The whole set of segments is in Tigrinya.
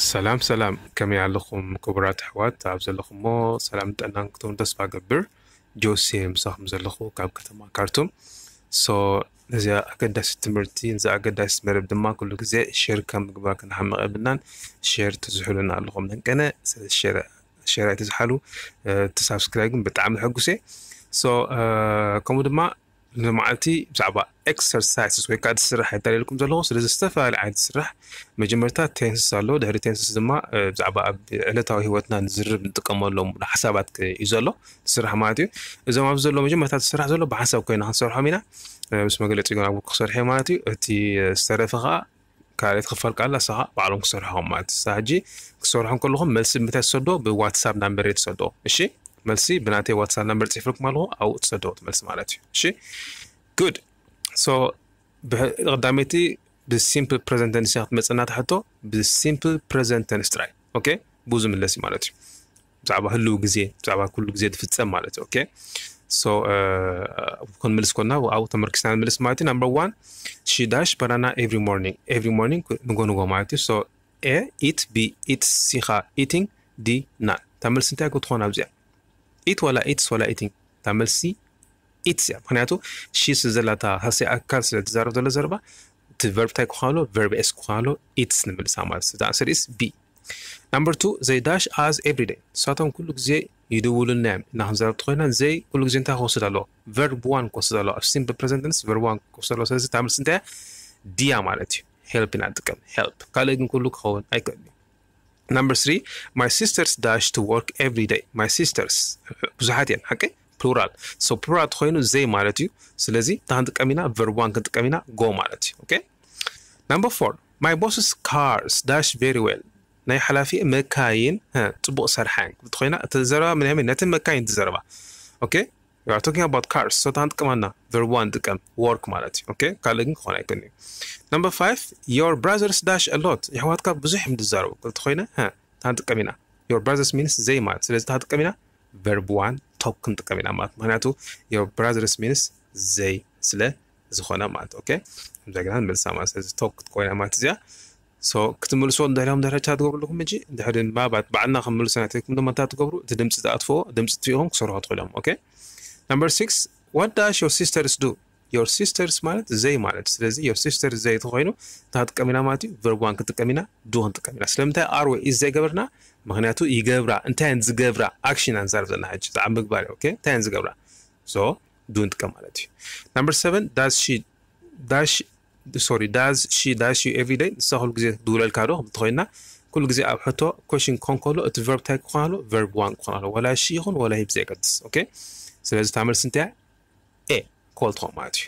ሰላም ሰላም፣ ከመይ ኣለኹም ክቡራት ኣሕዋት? ኣብ ዘለኹሞ ሰላም ጥዕናን ክትህሉ ተስፋ ገብር። ጆሴ ምሳኹም ዘለኹ ካብ ከተማ ካርቱም። ሶ ነዚኣ ኣገዳሲ ትምህርቲ፣ ነዚ ኣገዳሲ መደብ ድማ ኩሉ ግዜ ሼር ካብ ምግባር ክንሓምቕ የብልናን። ሼር ትዝሕሉና ኣለኹም ነንቀነ። ስለዚ ሼር ሼር ኣይትዝሓሉ። እቲ ሳብስክራይብ ግን ብጣዕሚ ሕጉስ እየ። ሶ ከምኡ ድማ ንመዓልቲ ብዛዕባ ኤክሰርሳይስስ ወይ ከዓ ዝስራሕ ይዳለልኩም ዘለኹ። ስለዚ ዝተፈላለዩ ዓይነት ዝስራሕ፣ መጀመርታ ቴንስስ ኣሎ። ድሕሪ ቴንስስ ድማ ብዛዕባ ኣብ ዕለታዊ ህይወትና ንዝርብ ንጥቀመሎም ሓሳባት እዩ ዘሎ ዝስራሕ ማለት እዩ። እዞም ኣብዚ ዘሎ መጀመርታ ዝስራሕ ዘሎ ብሓሳብ ኮይና ክንሰርሖም ኢና። ምስ መግለፂ ግን ኣብ ክሰርሕ ማለት እዩ። እቲ ዝተረፈ ከዓ ካልኣይቲ ክፋል ቃል ኣሳኻ ባዕሎም ክሰርሖም ማለት እዩ። ሕጂ ክሰርሖም ከለኹም መልሲ ብምንታይ ትሰዶ? ብዋትሳፕ ናምበር ትሰዶ። እሺ፣ መልሲ ብናተይ ዋትሳፕ ናምበር ፅሕፍልኩም ኣለኹ፣ ኣብኡ ትሰዶ እቲ መልሲ ማለት እዩ። እሺ፣ ጉድ። ሶ ቀዳመይቲ ብሲምፕል ፕሬዘንት ቴንስ ክትመፅና ትሕቶ። ብሲምፕል ፕሬዘንት ቴንስ ጥራይ። ኦኬ፣ ብዙ ምለሲ ማለት እዩ። ብዛዕባ ህልው ግዜ፣ ብዛዕባ ኩሉ ግዜ ዝፍጸም ማለት እዩ። ኦኬ፣ ሶ ክንምልስ ኮና ኣብኡ ተመርኪስና ንምልስ ማለት እዩ። ናምበር ዋን፣ ሺ ዳሽ ባናና ኤቭሪ ሞርኒንግ። ኤቭሪ ሞርኒንግ፣ ንጎ ንጎ ማለት እዩ። ሶ ኤ፣ ኢት፣ ቢ፣ ኢትስ፣ ሲኻ፣ ኢቲንግ፣ ዲ፣ ናን። እታ መልሲ እንታይ ክትኾን ኣብዚኣ? ኢት ዋላ ኢትስ ዋላ ኢቲንግ? እታ መልሲ ኢትስ እያ። ምክንያቱ ሺ ስለ ዘላታ ሳልሳይ ኣካል ስለ ትዛረብ ዘሎ ዘረባ፣ እቲ ቨርብ እንታይ ክኾን ኣሎ? ቨርብ ኤስ ክኾን ኣሎ። ኢትስ ንምልሳ ማለት እዩ። ኣንሰር ኢስ ቢ። ናምበር ቱ፣ ዘይ ዳሽ ኣዝ ኤቭሪ ደይ። ንሳቶም ኩሉ ግዜ ይድውሉልና እዮም እና ክንዛረብ ተኮይና፣ ዘይ ኩሉ ግዜ እንታይ ክወስድ ኣለዎ? ቨርብ ዋን ክወስድ ኣለዎ። ኣብ ሲምፕል ፕሬዘንት ቴንስ ቨርብ ዋን ክወስድ ኣለዎ። ስለዚ እታ መልሲ እንታይ እያ? ዲያ ማለት እዩ። ሄልፕ ኢና ንጥቀም፣ ሄልፕ። ካልእ ግን ኩሉ ክኸውን ኣይክእልን እዩ። ናምበር ስሪ፣ my sisters dash to work every day። My sisters ብዙሓት እየን፣ ሓቂ? ፕሉራል። ሶ ፕሉራል ተኮይኑ ዘይ ማለት እዩ። ስለዚ እንታይ ክንጥቀም ኢና? ቨርብ ዋን ክንጥቀም ኢና፣ ጎ ማለት እዩ። ኦኬ። ናምበር ፎር፣ my boss's cars dash very well። ናይ ሓላፊ መካይን ሀ፣ ጽቡቕ ሰርሓን ክትብል ኮይና፣ እቲ ዘረባ ምን ያምን ነቲ መካይን ትዘረባ። ኦኬ፣ you are talking about cars። ሶ እንታይ ክንጥቀም ኣለና? ቨርብ ዋን ንጥቀም፣ ወርክ ማለት እዩ። ኦኬ፣ ካልእ ግን ክኾን ኣይክእልን እዩ። ናምበር ፋይቭ፣ your brothers dash a lot። የሕዋትካ ብዙሕ እዮም ዝዛረቡ ክትብል ኮይነ፣ ሀ፣ እንታይ ክንጥቀም ኢና? Your brothers means ዘይ ማለት። ስለዚ እንታይ ክንጥቀም ኢና? ቨርብ ዋን፣ ቶክ ክንጥቀም ኢና ማለት። ምክንያቱ your brothers means ዘይ ስለ ዝኾነ ማለት። ኦኬ፣ ከምዚ ገና ንመልሳ ማለት። ስለዚ ቶክ ክትኮይና ማለት እዚኣ። ሶ ክትምልስዎ ድሕሪኦም ድሕሪ ቻ ትገብሩ ኣለኹም። ሕጂ ድሕሪ ንባባት ባዕልና ክንምልሶ ናተይኩም ድማ እንታይ ትገብሩ? እቲ ድምፂ ትኣጥፍዎ፣ ድምፂ ትፊእኹም ክሰርሑ ትኽእሉ እዮም። ኦኬ፣ number six, what dash your sisters do? Your sisters ማለት ዘይ ማለት። ስለዚ your sisters ዘይ ተኮይኑ እንታይ ክንጥቀም ኢና ማለት እዩ? ቨርብ ዋን ክንጥቀም ኢና፣ ዱ ክንጥቀም ኢና። ስለምንታይ ኣር ወይ ኢዝ ዘይገበርና? ምክንያቱ ይገብራ፣ እንታይ እየን ዝገብራ? ኣክሽን ኢና ንዛረብ ዘለና ሕጂ፣ ብዛዕባ ምግባር እዩ። ኦኬ፣ እንታይ እየን ዝገብራ? ሶ ዱ ንጥቀም ማለት እዩ። ናምበር ሰቨን፣ ዳዝ ሺ ዳሽ ሶሪ፣ ዳዝ ሺ ዳሽ ዩ ኤቭሪ ደይ? ንሳ ኩሉ ግዜ ትድውለልካ ዶ? እንተኮይና ኩሉ ግዜ ኣብ ሕቶ ኮሽን ክኾን ከሎ እቲ ቨርብ እንታይ ክኾን ኣሎ? ቨርብ ዋን ክኾን ኣሎ። ወላ ሺ ይኹን ወላ ሂ ብዘየገድስ። ኦኬ፣ ስለዚ እታ መልሲ እንታይ እያ? ኤ፣ ኮል ትኾን ማለት እዩ።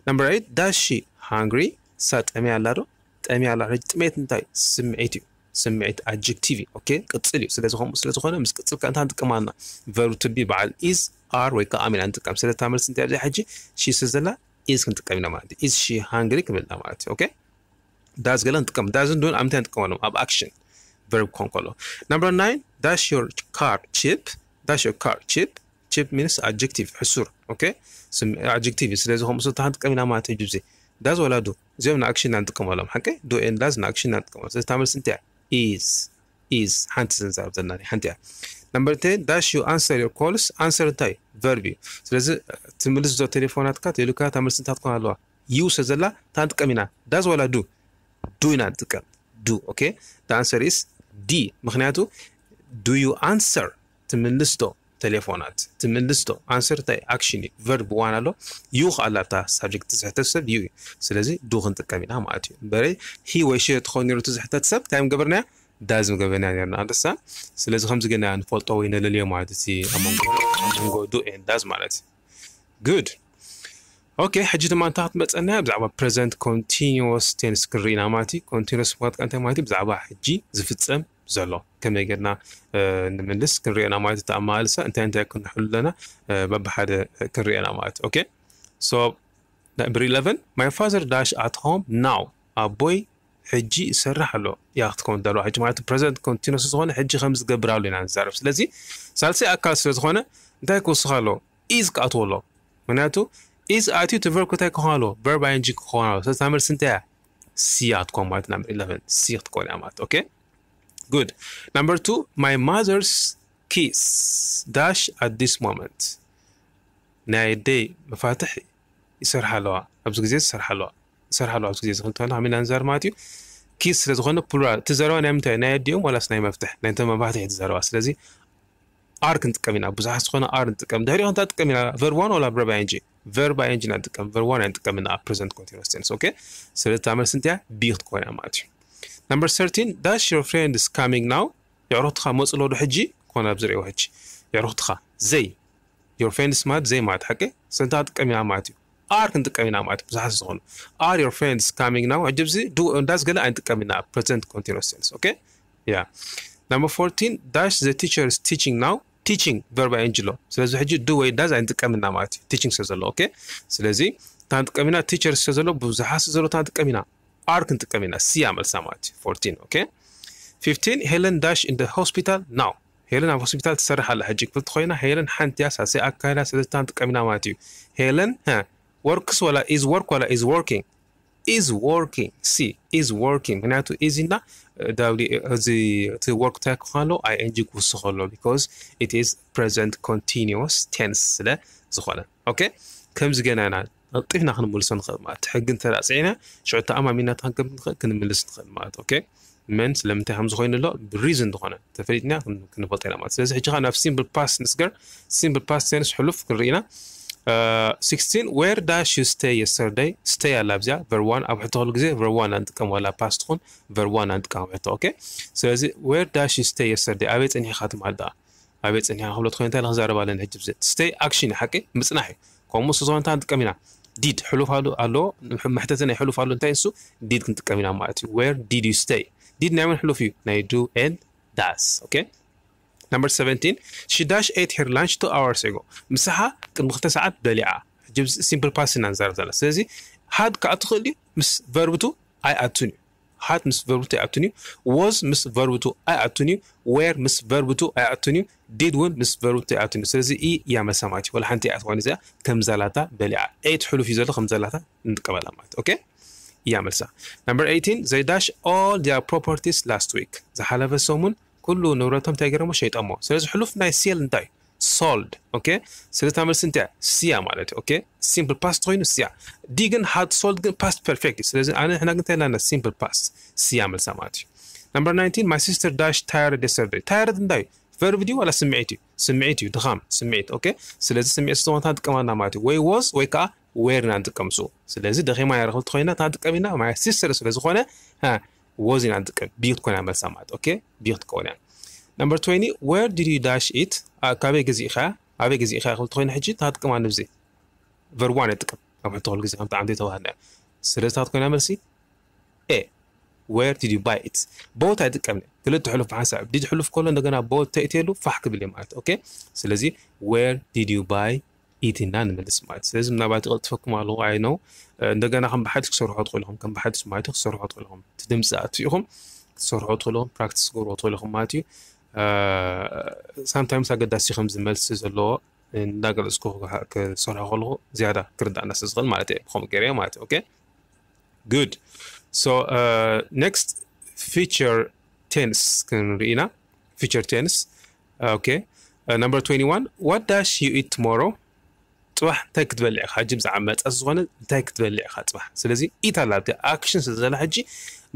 ናምበር ኤይት፣ ዳዝ ሺ ሃንግሪ? ንሳ ጠምያ ኣላ ዶ? ጠምያ ኣላ። ሕጂ ጥሜት እንታይ? ስምዒት እዩ። ስምዒት ኣጀክቲቭ እዩ። ኦኬ፣ ቅጽል እዩ። ስለዚ ከምኡ ስለ ዝኾነ ምስ ቅጽል ከ እንታይ ንጥቀም ኣለና? ቨርብ ቱ ቢ በዓል ኢዝ፣ ኣር ወይ ከዓ ኣም ኢና ንጥቀም። ስለዚ እታ መልሲ እንታይ ኣብዚኣ ሕጂ? ሺ ስለ ዘላ ኢዝ ክንጥቀም ኢና ማለት እዩ። ኢዝ ሺ ሃንግሪ ክብል ኢና ማለት እዩ። ኦኬ፣ ዳዝ ገለ ንጥቀም። ዳዝ ን ዱን ኣብ ምንታይ ንጥቀመሎም? ኣብ ኣክሽን፣ ቨርብ ክኾን ከሎ። ናምበር ናይን፣ ዳሽ ዮር ካር ቺፕ? ዳሽ ዮር ካር ቺፕ? ቺፕ ሚንስ ኣጀክቲቭ፣ ሕሱር። ኦኬ፣ ስም ኣጀክቲቭ እዩ። ስለዚ ከምኡ ስለ እንታይ ንጥቀም ኢና ማለት እዩ? ጅብዚ ዳዝ ወላ ዱ? እዚኦም ንኣክሽን ኢና ንጥቀመሎም። ሓቂ? ዱ ኤን ዳዝ ንኣክሽን ኢና ንጥቀመሎም። ስለዚ እታ መልሲ እንታይ እያ? ኢዝ። ኢዝ። ሓንቲ እዛ ንዛረብ ዘለና ሓንቲ እያ። ናምበር ቴን፣ ዳሽ ዩ ኣንሰር ዮር ኮልስ? ኣንሰር እንታይ? ቨርብ እዩ። ስለዚ ትምልስ ዶ ቴሌፎናትካ? ቴሌካ እታ መልሲ እንታይ ትኮን ኣለዋ? ዩ ስለ ዘላ እንታይ ንጥቀም ኢና? ዳዝ ወላ ዱ? ዱ ኢና ንጥቀም። ዱ። ኦኬ፣ the answer is ዲ። ምክንያቱ do you answer? ትምልስ ዶ ቴሌፎናት? ትምልስ ዶ? ኣንሰር እንታይ? ኣክሽን እዩ። ቨርብ ዋን ኣሎ። ዩ ከኣ ኣላ እታ ሳብጀክት ትዝሕተት ሰብ ዩ እዩ። ስለዚ ዱ ክንጥቀም ኢና ማለት እዩ። እምበረይ ሂ ወይ ሺ ተኾን ነይሩ ትዝሕተት ሰብ እንታይ ምገበርናያ? ዳዝ ምገበርናያ ነርና። ኣንደሳ። ስለዚ ከምዚ ገና ንፈልጦ ወይ ነለልዮ ማለት እቲ ኣብ መንጎ፣ ኣብ መንጎ ዱ ኤን ዳዝ ማለት እዩ። ጉድ። ኦኬ፣ ሕጂ ድማ እንታይ ክትመፀና? ብዛዕባ ፕሬዘንት ኮንቲኒወስ ቴንስ ክንርኢ ኢና ማለት እዩ። ኮንቲኒወስ ማለት እንታይ ማለት እዩ? ብዛዕባ ሕጂ ዝፍፀም ዘሎ ከመይ ጌርና፣ እ፣ ንምልስ ክንርኢ ኢና ማለት እዩ። እቲ ኣመላልሳ እንታይ እንታይ ክንሕሉ ኣለና፣ እ፣ በብሓደ ክንርኢ ኢና ማለት እዩ። ኦኬ፣ ሶ ናምበር ኢለቨን፣ my father dash at home now። ኣቦይ ሕጂ ይሰርሕ ኣሎ። ያ ክትከውን ዳልዋ ሕጂ ማለት ፕሬዘንት ኮንቲኒወስ ዝኾነ ሕጂ ከም ዝገብር ኣሎ ኢና ንዛረብ። ስለዚ ሳልሳይ ኣካል ስለ ዝኾነ እንታይ ክውስኽ ኣለዎ? ኢዝ ክኣትዎ ኣለዎ። ምክንያቱ ኢዝ ኣትዩ እቲ ቨርብ እንታይ ክኾን ኣለዎ? ቨርብ ኣይ ኤን ጂ ክኾን ኣለዎ። ስለዚ እታ መልሲ እንታይ እያ? ሲ እያ ክትኮን ማለት፣ ናምበር ኢለቨን ሲ ክትኮን እያ ማለት። ኦኬ፣ Good. Number two, my mother's keys dash at this moment. ናይ ኣደይ መፋትሕ ይሰርሓ ኣለዋ፣ ኣብዚ ግዜ ይሰርሓ ኣለዋ፣ ይሰርሓ ኣለዋ ኣብዚ ግዜ እዚ ክንተና ከመይ ኢና ንዛረብ ማለት እዩ። ኪስ ስለ ዝኾነ ፕሉራል፣ እቲ ዘረባ ናይ ምንታይ፣ ናይ ኣዲኦም ዋላስ ናይ መፍትሕ፣ ናይ እንተ መፋትሕ እቲ ዘረባ። ስለዚ ኣር ክንጥቀም ኢና፣ ብዙሓት ዝኾነ ኣር ንጥቀም። ድሕሪኡ እንታይ ንጥቀም ኢና? ቨርብ ዋን ዋላ ቨርብ ኣይ ኤን ጂ? ቨርብ ኣይ ኤን ጂ ኢና ንጥቀም፣ ቨርብ ዋን ኣይንጥቀም ኢና ኣብ ፕረዘንት ኮንቲኒስ ቴንስ። ኦኬ፣ ስለዚ እታ መልሲ እንታይ እያ? ቢ ክትኮን እያ ማለት እዩ። Number thirteen, dash your friend is coming now. የዕሩኽትኻ መፁ ኣለዉ ዶ ሕጂ? ኮነ ኣብዚ ርእይዎ ሕጂ። የዕሩኽትኻ፣ ዘይ፣ your friends ማለት ዘይ ማለት ሓቂ፣ ስለዚ እንታይ ክንጥቀም ኢና ማለት እዩ? ኣር ክንጥቀም ኢና ማለት እዩ። ብዙሓት ዝኾኑ፣ are your friends coming now? ሕጂ ኣብዚ ዱ እንዳስ ገለ ኣይንጥቀም ኢና፣ ፕረዘንት ኮንቲኒስ ቴንስ። ኦኬ፣ ያ። Number fourteen, dash the teacher is teaching now. ቲቺንግ ቨርብ ኣይ ኤን ጂ ኣሎ። ስለዚ ሕጂ ዱ ወይ ዳዝ ኣይንጥቀም ኢና ማለት እዩ፣ ቲቺንግ ስለ ዘሎ። ኦኬ፣ ስለዚ እታ ንጥቀም ኢና፣ ቲቸር ስለ ዘሎ፣ ብዙሓት ስለ ዘሎ እታ ንጥቀም ኢና፣ ኣር ክንጥቀም ኢና። ሲ እያ መልሳ ማለት እዩ። ፎርቲን። ኦኬ፣ ፊፍቲን፣ ሄለን ዳሽ ኢን ደ ሆስፒታል ናው። ሄለን ኣብ ሆስፒታል ትሰርሕ ኣላ ሕጂ ክፍልቲ ኮይና፣ ሄለን ሓንቲ እያ፣ ሳልሰይ ኣካል እያ። ስለዚ እታ ንጥቀም ኢና ማለት እዩ። ሄለን፣ ሀ፣ ወርክስ ዋላ ኢዝ ወርክ ዋላ ኢዝ ወርኪንግ? ኢዝ ወርኪንግ። ሲ፣ ኢዝ ወርኪንግ። ምክንያቱ ኢዝ እና ዳብሊ፣ እዚ፣ እቲ ወርክ እንታይ ክኾን ኣለዎ? ኣይ ኤን ጂ ክውስኽ ኣለዎ፣ because it is present continuous tense ስለ ዝኾነ። ኦኬ፣ ከምዚ ገና ኢና ቀልጢፍና ክንምልሶ ንኽእል ማለት፣ ሕጊ እንተ ደኣ ጽዒና፣ ሽዑ ተኣማሚና ክንከም ንኽእል፣ ክንምልስ ንኽእል ማለት። ኦኬ፣ መን ስለምንታይ ከም ዝኾይኑ ኣሎ፣ ብሪዝን ዝኾነ ተፈሊጥና ክን-፣ ክንፈልጦ ኢና ማለት። ስለዚ ሕጂ ኸኣ ናብ ሲምፕል ፓስት ንስገር። ሲምፕል ፓስት ቴንስ፣ ሕሉፍ፣ ክንርኢ ኢና። ሲክስቲን፣ where dash you stay yesterday? ስቴይ ኣላ ኣብዚኣ፣ ቨርብ ዋን ኣብ ሕቶ ኩሉ ግዜ ቨርብ ዋን ኢና ንጥቀም፣ ዋላ ፓስት ትኹን ቨርብ ዋን ኢና ንጥቀም ኣብ ሕቶ። ኦኬ፣ ስለዚ where dash you stay yesterday? ኣበይ ጸኒሕካ ትማል ደኣ? ኣበይ ጸኒሕካ ክብሎ ትኾይኑ፣ እንታይ ኢለ ክዛረብ ኣለኒ ሕጂ ብዘይ? ስቴይ ኣክሽን እዩ፣ ሓቂ ምጽናሕ እዩ። ከምኡ ስለ ዝኾነ እንታይ ንጥቀም ኢና? ዲድ፣ ሕሉፍ ኣሎ፣ ኣሎ፣ መሕተቲ ናይ ሕሉፍ ኣሎ፣ እንታይ እሱ? ዲድ ክንጥቀም ኢና ማለት እዩ። Where did you stay? ዲድ ናይ መን ሕሉፍ እዩ? ናይ ዱ ኤንድ ዳስ። ኦኬ፣ ነምበር ሰቨንቲን፣ she dash ate her lunch two hours ago። ምሳሓ ቅድሚ ክልተ ሰዓት በሊዓ። ሕጂ ሲምፕል ፓስት ኢና ንዛረብ ዘለና። ስለዚ ሃድ ከዓ ትኽእል እዩ፣ ምስ ቨርብ ቱ ኣይኣቱን እዩ። ሃድ ምስ ቨርብ ቱ ኣይኣቱን እዩ። ዎዝ ምስ ቨርብ ቱ ኣይኣቱን እዩ። ዌር ምስ ቨርብ ቱ ኣይኣቱን እዩ። ዲድ እውን ምስ ቨርብ ቱ ኣይኣቱን እዩ። ስለዚ ኢ እያ መልሳ ማለት እዩ። ወላ ሓንቲ እያ ትኾን እዚኣ፣ ከም ዛላታ በሊዓ። ኤት ሕሉፍ እዩ ዘሎ፣ ከም ዛላታ ንጥቀመላ ማለት። ኦኬ፣ እያ መልሳ። ነምበር ኤይቲን፣ they dash all their properties last week። ዝሓለፈ ሰሙን ኩሉ ንብረቶም እንታይ ገይሮሞ? ሸይጦሞ። ስለዚ ሕሉፍ ናይ ሴል እንታይ? ሶልድ። ኦኬ፣ ስለዚ እታ መልሲ እንታይ እያ? ሲ እያ ማለት እዩ። ኦኬ፣ ሲምፕል ፓስት ኮይኑ ሲ እያ። ዲ ግን ሃድ ሶልድ ግን ፓስት ፐርፌክት እዩ። ስለዚ ኣነ፣ ንሕና ግን እንታይ ኣለና? ሲምፕል ፓስት፣ ሲ እያ መልሳ ማለት እዩ። ነምበር ናይንቲን፣ my sister dash tired yesterday። ታየርድ እንታይ እዩ? ቨርብ ድዩ ዋላ ስምዒት እዩ? ስምዒት እዩ፣ ድኻም፣ ስምዒት። ኦኬ፣ ስለዚ ስምዒት ስለዝኾነ እንታይ ንጥቀም ኣለና ማለት እዩ? ወይ ዎዝ ወይ ከዓ ዌር ኢና ንጥቀም። ሱ ስለዚ ደኺማ እያ ክብል እንተኾይና እንታይ ንጥቀም ኢና? My sister ስለ ዝኾነ፣ ሃ፣ ዎዝ ኢና ንጥቀም። ቢ ክትኮን እያ መልሳ ማለት። ኦኬ፣ ቢ ክትከውን እያ። ነምበር ትዌንቲ፣ where did you dash it? አ፣ ካበይ ገዚእኻ? ኣበይ ገዚእኻ ክብል እንተኾይና ሕጂ እንታይ ንጥቀም ኣብዚ? ቨርብ ዋን ንጥቀም። ኣብ ሕቶ ኩሉ ግዜ ከም ብጣዕሚ ዘይተባህልና እያ። ስለዚ እንታይ ክትኮን እያ መልሲ? ኤ። Where did you buy it? ቦት ኣይጥቀምን። ክልተ ሕሉፍ ብሓንሳብ። ዲድ ሕሉፍ ከሎ እንደገና ቦት ተእትየሉ ፋሕ ክብል እዩ ማለት። ኦኬ፣ ስለዚ where did you buy it ኢልና ንምልስ ማለት። ስለዚ ምናልባት ይቐልጥፈኩም ኣለዎ፣ ኣይ ኖው። እንደገና ከም ብሓድሽ ክሰርሖ ትኽእሉ ኢኹም፣ ከም ብሓድሽ ማለት እዩ፣ ክሰርሖ ትኽእሉ ኢኹም። እቲ ድምፂ ኣጥፊእኹም ክትሰርሖ ትኽእሉ ኢኹም፣ ፕራክቲስ ክገብርዎ ትኽእሉ ኢኹም ማለት እዩ። ሳምታይምስ ኣገዳሲ ከምዚ መልሲ ዘለዎ እንዳገለፅኩ ክሰርሖ ከለኹ ዝያዳ ክርዳእና ስለ ዝኽእል ማለት እየ፣ ብኸምኡ ገይረ ማለት እዩ። ኦኬ፣ ጉድ። ሶ ኔክስት፣ ፊቸር ቴንስ ክንርኢ ኢና። ፊቸር ቴንስ። ኦኬ፣ ነምበር ትዌንቲ ዋን፣ what dash you eat tomorrow? ፅባሕ እንታይ ክትበልዕ ኢኻ? ሕጂ ብዛዕባ መፃ ዝኾነ እንታይ ክትበልዕ ኢኻ ፅባሕ? ስለዚ ኢት ኣላ ኣብቲ ኣክሽን ስለ ዘላ ሕጂ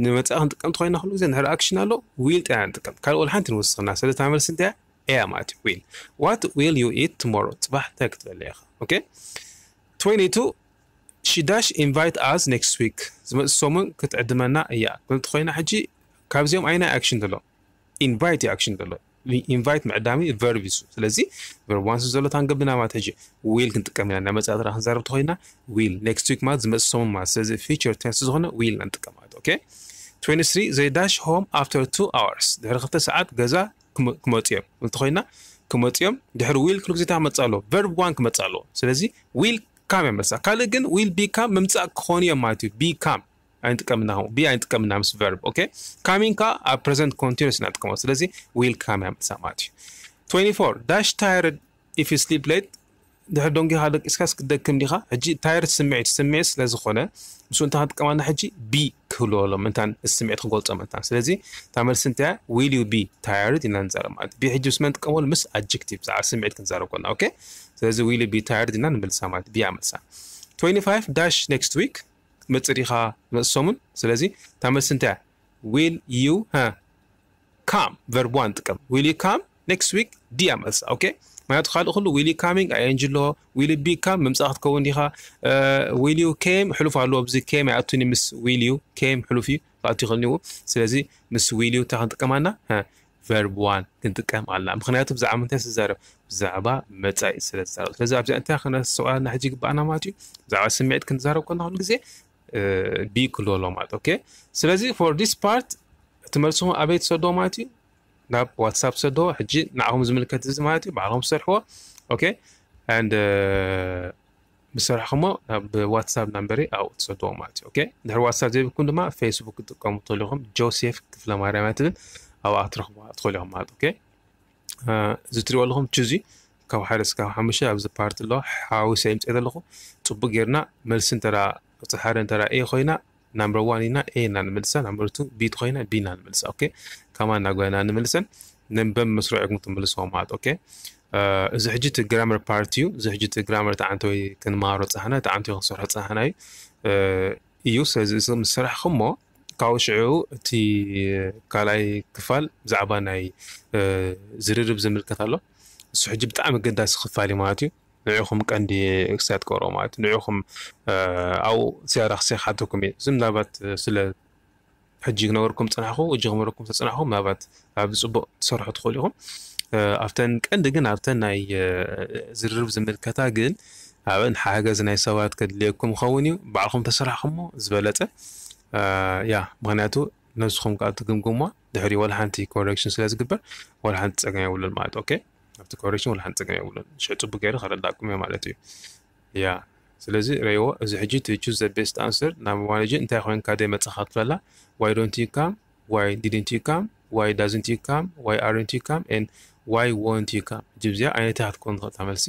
ንመፃ ክንጥቀም እንተኾይና ኩሉ ግዜ እንድሕር ኣክሽን ኣሎ ዊል ጥራይ ንጥቀም፣ ካልእ ወላ ሓንቲ ንወስኽና። ስለዚ እታ መልሲ እንታይ እያ? ኤያ ማለት እዩ፣ ዊል። What will you eat tomorrow? ፅባሕ እንታይ ክትበልዕ ኢኻ? ኦኬ፣ ትዌንቲ ቱ፣ she dash invite us next week። ዝመፅእ ሰሙን ክትዕድመና እያ ክብል እንተኾይና ሕጂ ካብዚኦም ኣይናይ ኣክሽን ዘሎ? ኢንቫይት እዩ ኣክሽን ዘሎ። ኢንቫይት ምዕዳም እዩ፣ ቨርብ እዩ እሱ። ስለዚ ቨርብ ዋን ስለ ዘሎ እታ ንገብና ማለት ሕጂ ዊል ክንጥቀም ኢና። ናይ መፃኢ ጥራሕ ክንዛረብ ተኾይና ዊል፣ ኔክስት ዊክ ማለት ዝመፅእ ሰሙን ማለት። ስለዚ ፊቸር ቴንስ ዝኾነ ዊል ኢና ንጥቀም ማለት። ኦኬ፣ ትዌንቲ ስሪ፣ they dash home after two hours። ድሕሪ ክልተ ሰዓት ገዛ ክመ-፣ ክመፁ እዮም እንተኾይና፣ ክመፁ እዮም። ድሕሪ ዊል ኩሉ ግዜ እንታይ ክመፅእ ኣለዎ? ቨርብ ዋን ክመፅእ ኣለዎ። ስለዚ ዊል ካም እያ መልሳ። ካልእ ግን ዊል ቢካም ምምፃእ ክኾኑ እዮም ማለት እዩ። ቢካም ኣይንጥቀምና፣ ቢ ኣይንጥቀምና ምስ ቨርብ። ኦኬ፣ ካሚንግ ከዓ ኣብ ፕረዘንት ኮንቲኒስ ኢና ንጥቀሞ። ስለዚ ዊል ካም እያ መልሳ ማለት እዩ። ትዌንቲ ፎር፣ dash tired if you sleep late። ድሕሪ ደንጊኻ ደቂስካስ ክትደክም ዲኻ? ሕጂ ታየርድ ስምዒት፣ ስምዒት ስለ ዝኾነ ምስኡ እንታይ ክንጥቀም ኣለና ሕጂ? ቢ ክህልዎ ኣሎ ምእንታን፣ ስምዒት ክገልጾ ምእንታን። ስለዚ እታ መልሲ እንታይ እያ? Will you be tired? ኢና ንዛረብ ማለት። Be ሕጂ ምስ መን ንጥቀመሉ? ምስ adjective፣ ብዛዕባ ስምዒት ክንዛረብ ከለና። ኦኬ? ስለዚ will you be tired? ኢና ንምልሳ ማለት። Be እያ መልሳ። Twenty-five dash next week፣ ክትመጽእ ዲኻ ዝመጽእ ሰሙን? ስለዚ እታ መልሲ እንታይ እያ? Will you፣ ሃ፣ come፣ verb one ንጥቀም። Will you come next week? D እያ መልሳ። ኦኬ? ምክንያቱ ካልእ ኩሉ will you coming? I N G ኣለዎ። Will you be come? ምምጻእ ክትከውን ዲኻ? እ፣ will you came? ሕሉፍ ኣለዎ። ኣብዚ came ኣይኣቱን እዩ ምስ will you። Came ሕሉፍ እዩ፣ ክኣቱ ይኽእል እዩ። ስለዚ ምስ will you እንታይ ክንጥቀም ኣለና? ሃ፣ verb one ክንጥቀም ኣለና። ምክንያቱ ብዛዕባ ምንታይ ስዛረብ? ብዛዕባ መጻኢ ስለ ዝዛረብ። ስለዚ ኣብዚኣ እንታይ ክነስውኣና ሕጂ ይግባኣና ማለት እዩ? ብዛዕባ ስምዒት ክንዛረብ ከለና ኩሉ ግዜ፣ እ፣ be ክህልዎ ኣለዎ ማለት። ኦኬ? ስለዚ for this part እቲ መልስኹም ኣበይ ትሰድዎ ማለት እዩ? ናብ WhatsApp ትሰድዎ። ሕጂ ንዓኹም ዝምልከት እዚ ማለት እዩ፣ ባዕልኹም ትሰርሕዎ። ኦኬ? And፣ እ፣ ምስ ሰራሕኹሞ ናብ WhatsApp ናምበረይ ኣብኡ ትሰድዎ ማለት እዩ። ኦኬ? ድሕሪ WhatsApp ዘይብልኩም ድማ Facebook ክትጥቀሙ ትኽእሉ ኢኹም። ጆሴፍ ክፍለ ማርያም እያ ትብል፣ ኣብኣ ክትረኽቡዋ ትኽእሉ ኢኹም ማለት። ኦኬ? እ፣ እዚ ትሪእዎ ኣለኹም ቹዚ ካብ ሓደ እስካብ ሓሙሽተ ኣብዚ ፓርት ኣሎ። ሓዊሰ የምፅእ ዘለኹ። ፅቡቅ ጌርና መልሲ እንተራ፣ እቲ ሓደ እንተራ A ኮይና፣ ናምበር ዋን ኢና፣ A ኢና ንምልሳ። ናምበር ቱ B እንተኮይና፣ B ኢና ንምልሳ። ኦኬ? ከማን እናጎየና ንምልሰን ነንበብ መስርዕ ኢኹም ትምልስዎ ማለት። ኦኬ? እ፣ እዚ ሕጂ እቲ ግራመር ፓርት እዩ። እዚ ሕጂ እቲ ግራመር ተዓንተ ወይ ክንመሃሮ ጸሓና፣ ተዓንተ ወይ ክንሰርሖ ጸሓና እዩ። እ፣ እዩ። ስለዚ እዚ ምስ ሰራሕኹሞ፣ ካብኡ ሽዑ እቲ ካልኣይ ክፋል ብዛዕባ ናይ፣ እ፣ ዝርርብ ዝምልከት ኣሎ። እሱ ሕጂ ብጣዕሚ ኣገዳሲ ክፋል እዩ ማለት እዩ። ንዕኹም ቀንዲ ክሳት ቀርቦ ማለት እዩ። ንዕኹም፣ እ፣ ኣብኡ ዝያዳ ክሰ ክሓተኩም እዩ። እዚ ምናልባት ስለ ሕጂ ክነገርኩም ዝጸናሕኩ፣ ሕጂ ክነገርኩም ዝተጸናሕኩ፣ ምናልባት ኣብዚ ጽቡቕ ትሰርሑ ትኽእሉ ኢኹም። እ፣ ኣብተን ቀንዲ ግን ኣብተን ናይ፣ እ፣ ዝርርብ ዝምልከታ ግን ኣብን ሓገዝ ናይ ሰባት ከድልየኩም ይኸውን እዩ። ባዕልኹም ተሰራሕኩሞ ዝበለጸ። እ፣ ያ፣ ምኽንያቱ ነብስኹም ከኣ ትግምግሞ፣ ድሕሪ ወላ ሓንቲ ኮሬክሽን ስለ ዝግበር፣ ወላ ሓንቲ ጸገም የብሉን ማለት። ኦኬ? ኣብቲ ኮሬክሽን ወላ ሓንቲ ጸገም የብሉን። ሽዑ ጽቡቅ ገይሩ ከረዳእኩም እየ ማለት እዩ። ያ፣ ስለዚ ረይዎ፣ እዚ ሕጂ to choose the best answer፣ ናብ ማኔጅ እንታይ ኮይንካ ደይ መጻኻ ትብለላ? Why don't you come? Why didn't you come? Why doesn't you come? Why aren't you come? And why won't you come? ሕጂ ብዚኣ ዓይነት እያ ክትኮን ትኽእል እታ መልሲ።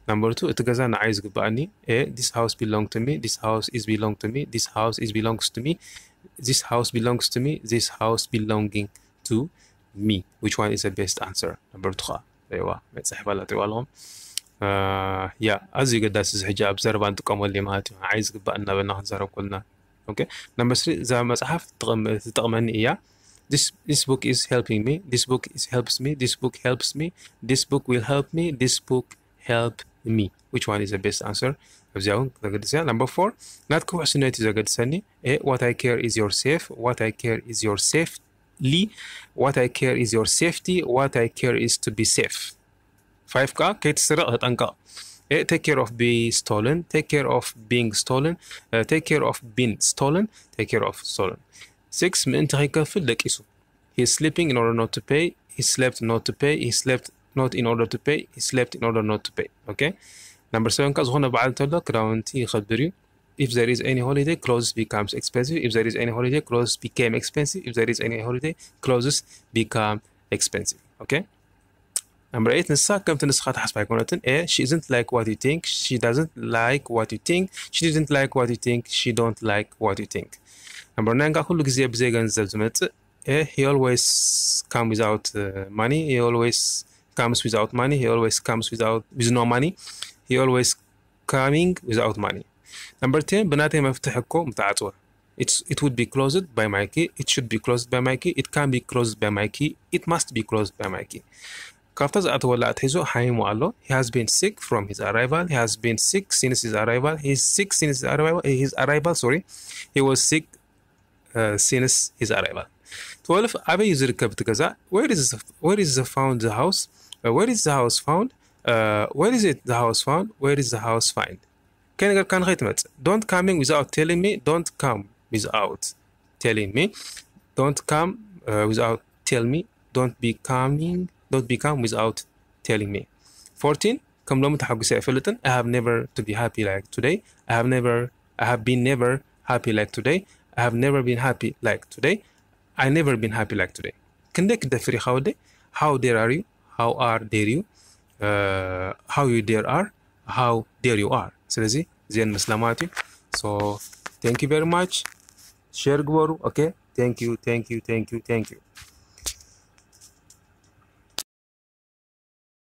ናምበር ቱ፣ እቲ ገዛ ንዓይ ዝግባኣኒ። A, this house belong to me, this house is belong to me, this house is belongs to me, this house belongs to me, this house belonging to me. Which one is the best answer? ናምበር ቱ ኸዓ፣ ረይዋ፣ መጽሓፍ ኣላ፣ ትሪእዋ ኣለኹም። እ፣ ያ፣ ኣዝዩ ገዳሲ፣ እዚ ሕጂ ኣብ ዘረባ ንጥቀመሉ እዩ ማለት እዩ። ንዓይ ዝግባእ እናበልና ክንዛረብ ከለና። ኦኬ፣ ናምበር ስሪ፣ እዛ መጽሓፍ ትጠቕም-፣ ትጠቕመኒ እያ። This, this book is helping me. This book is helps me. This book helps me. This book will help me. This book help me. Which one is the best answer? ኣብዚኣ እውን ዘገድስ እያ። ናምበር ፎር፣ ናትኪ ውሕስነት እዩ ዘገድሰኒ። A, what I care is your safe. What I care is your safely. What I care is your safety. What I care is to be safe. ፋይቭ ከዓ፣ ከይትስረቕ ተጠንቀቕ። A, take care of be stolen. Take care of being stolen. Uh, take care of being stolen. Take care of stolen. ሲክስ፣ ምእንቲ ከይከፍል ደቂሱ። He's sleeping in order not to pay. He slept not to pay. He slept not in order to pay. He slept in order not to pay. ኦኬ? ናምበር ሰቨን ከ፣ ዝኾነ በዓል እንተሎ ክዳውንቲ ይኸብር እዩ። If there is any holiday, clothes becomes expensive. If there is any holiday, clothes became expensive. If there is any holiday, clothes become expensive. ኦኬ? ናምበር ኤይት፣ ንሳ ከምቲ ንስኻ ትሓስባ ኣይኮነትን። A, she isn't like what you think. She doesn't like what you think. She didn't like what you think. She don't like what you think. ናምበር ናይን ከ፣ ኩሉ ግዜ ብዘይ ገንዘብ ዝመጽእ። A, he always come without, uh, money. He always comes without money. He always comes without, with no money. He always coming without money. ናምበር ቴን፣ ብናተይ መፍትሕ እኮ ምተዓጽወ። It's, it would be closed by my key. It should be closed by my key. It can be closed by my key. It must be closed by my key. ካብታ ዝኣተወላ ኣትሒዙ ሓሚሙ ኣሎ። He has been sick from his arrival. He has been sick since his arrival. He is sick since his arrival. His arrival, sorry. He was sick, uh, since his arrival. ትወልፍ፣ ኣበይ እዩ ዝርከብ እቲ ገዛ? Where is the, where is the found the house? Uh, where is the house found? Uh, where is it the house found? Where is the house find? ከይነገርካኒ ከይትመጽእ። Don't coming without telling me. Don't come without telling me. Don't come, uh, without tell me. Don't be coming. Don't be come without telling me. ፎርቲን፣ ከም ሎሚ ተሓጒሰ ኣይፈልጥን። I have never to be happy like today. I have never, I have been never happy like today. I have never been happy like today. I never been happy like today. ክንደይ ክትደፍር ኢኻ ወደይ? How dare are you? How are dare you? Uh, how you dare are? How dare you are? ስለዚ እዚአን መስላ ማለት እዩ። So, thank you very much. share ግበሩ። Okay, thank you, thank you, thank you, thank you.